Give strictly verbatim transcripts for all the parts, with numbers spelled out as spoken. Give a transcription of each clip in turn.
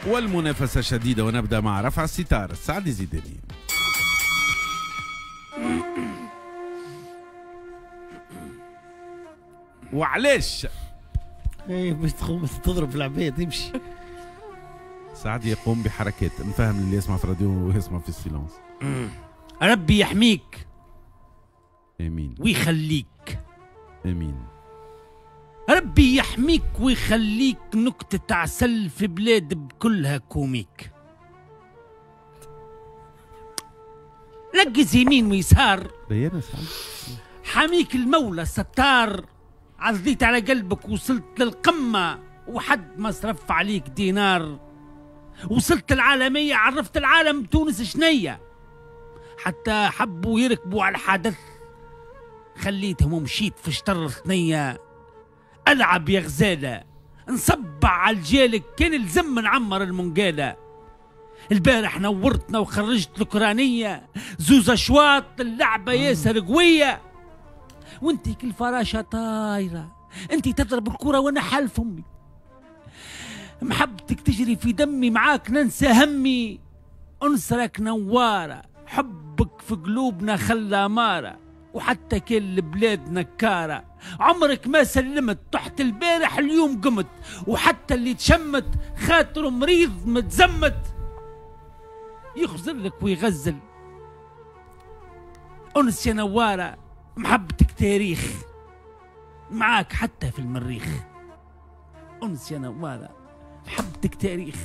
والمنافسة شديدة، ونبدأ مع رفع الستار سعدي زيداني. وعلاش؟ ايه باش تضرب في العباد يمشي. سعد يقوم بحركات نفهم اللي يسمع في الراديو ويسمع في ال silence. ربي يحميك. امين. ويخليك. امين. ربي يحميك ويخليك، نكتة عسل في بلاد بكلها comique. ركز يمين ويسار، حميك المولى الستار، عزيت على قلبك وصلت للقمة وحد ما صرف عليك دينار. وصلت العالمية، عرفت العالم تونس شنية، حتى حبوا يركبوا على الحدث خليتهم ومشيت في شطر ثنية. ألعب يا غزالة، نصبع على الجالك كان الزم نعمر المنقالة. البارح نورتنا وخرجت الأوكرانية، زوز أشواط اللعبة ياسر قوية، وانتي كل فراشة طايرة، انتي تضرب الكرة وانا حالف امي. محبتك تجري في دمي، معاك ننسى همي، انصرك نوارة، حبك في قلوبنا خلى مارة، وحتى كل البلاد نكارة. عمرك ما سلمت، تحت البارح اليوم قمت، وحتى اللي تشمت خاطره مريض متزمت، يخزر لك ويغزل. أنس يا نوارة، محبتك تاريخ، معاك حتى في المريخ. أنس يا نوارة، محبتك تاريخ،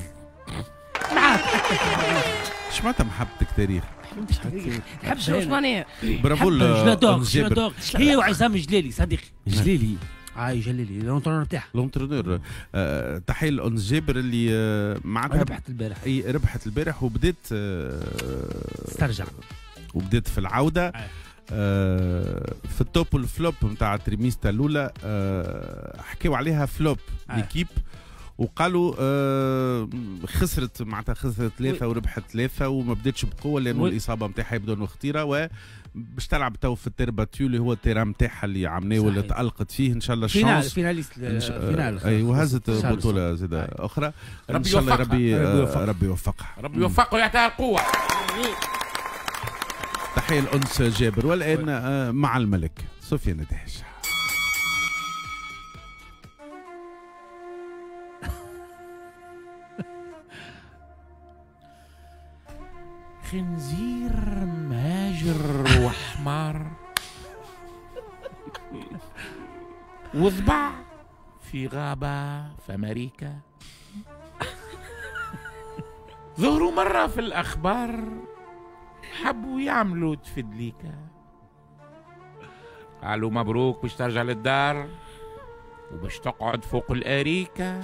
معاك حتى في المريخ. اش معناتها محبتك تاريخ؟ محبتك تاريخ، شو معناها؟ برافو جلادوغ، هي وعصام جلالي صديقي. جلالي عاي جلالي l'entraîneur تاعها. l'entraîneur. آه، تحية لأنس جابر اللي آه معناتها ربحت البارح. اي ربحت البارح وبدات آه تسترجع وبدات في العودة. آه. آه في ال top وال flop نتاع trimestre الاولى آه حكيوا عليها flop آه. l'équipe، وقالوا آه خسرت معناتها خسرت ثلاثة وربحت ثلاثة وما بداتش بقوة لانه الاصابة نتاعها يبدو انه خطيرة، وباش تلعب تو في ال terre battue اللي هو ال terrain نتاعها اللي عملناه واللي تألقت فيه ان شاء الله ال chance finale finale. اي وهزت بطوله زاده اخرى ان شاء الله. ربي ربي يوفقها، ربي يوفقها ويعطيها القوة. تحية لأنس جابر. والآن مع الملك سفيان دهش. خنزير مهاجر وحمار وضبع في غابة في أمريكا، ظهروا مرة في الأخبار حبوا يعملوا تفدليكا، قالوا مبروك باش ترجع للدار وباش تقعد فوق الأريكة.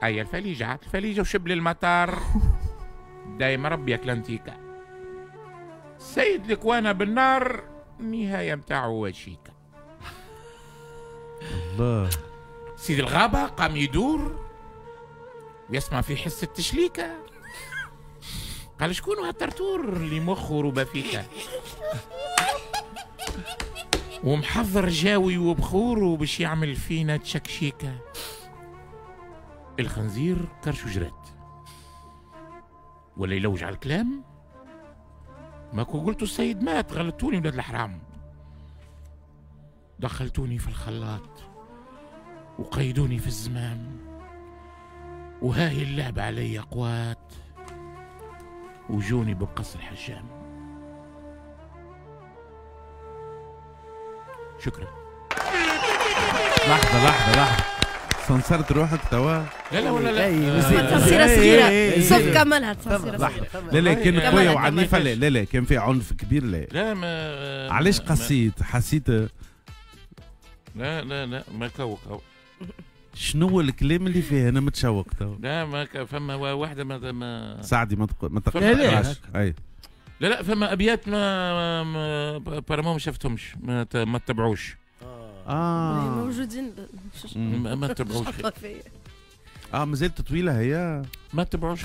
أي الفليجة عاد الفليجة وشبل المطار دايما ربي أكلانتيكا. سيد الكوانا بالنار النهاية متاعو وشيكا. الله. سيد الغابة قام يدور ويسمع في حس التشليكة، قال شكون هالترتور اللي مخه ربافيكا ومحضر جاوي وبخوره باش يعمل فينا تشكشيكا. الخنزير كرشو جرات ولا يلوج على الكلام، ما كو قلتو السيد مات غلطوني ولاد الحرام، دخلتوني في الخلاط وقيدوني في الزمام، وهاي اللعبة علي قوات وجوني بقص الحجام. شكرا. لحظة لحظة لحظة، سنصرت روحك توا؟ لا لا ولا لا، تصيرة صغيرة صف كملها، تصيرة صغيرة. لا لا كانت قوية وعنيفة. لا لا لا كان في عنف كبير. لا لا ما علاش قسيت؟ حسيت لا لا لا ما كو كو شنو هو الكلام اللي فيه؟ انا متشوق تو. لا ما فما واحدة ما ما سعدي ما ما تقراش. اي لا لا فما ابيات ما ما بارمون ما شفتهمش، ما ما تبعوش. اه موجودين ما, ما تبعوش. اه مازالت طويلة هي، ما تبعوش.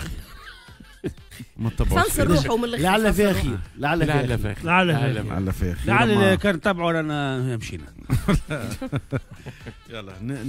ما تبعوش. سنصر روحه من الاخر. لعل فيها خير، لعل فيها خير، لعل فيها خير، لعل كان تبعوا رانا مشينا. يلا.